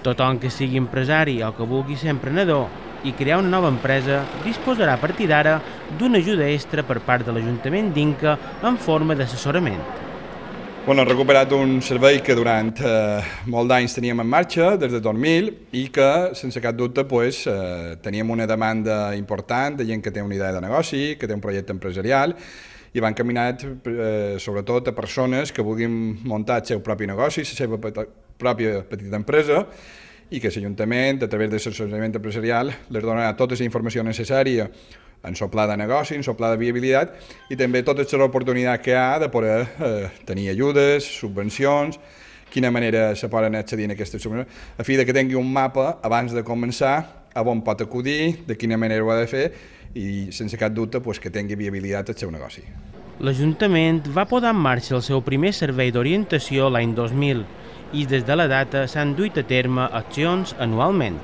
Tothom que sigui empresari o que vulgui ser emprenedor i crear una nova empresa disposarà a partir d'ara d'una ajuda extra per part de l'Ajuntament d'Inca en forma d'assessorament. Hem recuperat un servei que durant molts d'anys teníem en marxa, des de 2000, i que, sense cap dubte, teníem una demanda important de gent que té una idea de negoci, que té un projecte empresarial, i va encaminat sobretot a persones que vulguin muntar el seu propi negoci, la seva pròpia petita empresa, i que l'Ajuntament, a través de l'assessorament empresarial, les donarà tota la informació necessària en el pla de negoci, en el pla de viabilitat, i també totes les oportunitats que hi ha de poder tenir ajudes, subvencions, quina manera se poden accedir a aquestes subvencions, a fi que tingui un mapa abans de començar, a on pot acudir, de quina manera ho ha de fer, i sense cap dubte que tingui viabilitat el seu negoci. L'Ajuntament va posar en marxa el seu primer servei d'orientació l'any 2000 i des de la data s'han duit a terme accions anualment.